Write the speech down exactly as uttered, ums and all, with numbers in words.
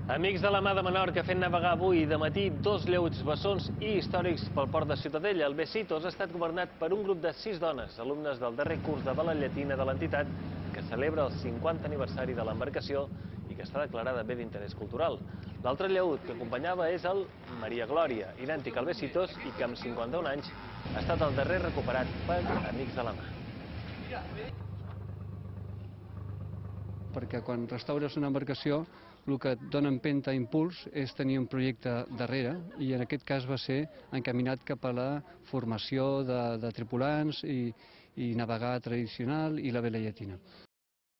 Amics de la Mà de Menorca fent navegar avui de matí dos lleuts bessons i històrics pel port de Ciutadella. El Besitos ha estat governat per un grup de sis dones, alumnes del darrer curs de vela llatina de l'entitat, que celebra el cinquantè aniversari de l'embarcació i que està declarada bé d'interès cultural. L'altre lleut que acompanyava és el Maria Glòria, idèntic al Besitos i que amb cinquanta-un anys ha estat el darrer recuperat per Amics de la Mà. Perquè quan restaures una embarcació el que et dona empenta, impuls, és tenir un projecte darrere i en aquest cas va ser encaminat cap a la formació de, de tripulants i, i navegar tradicional i la vela llatina.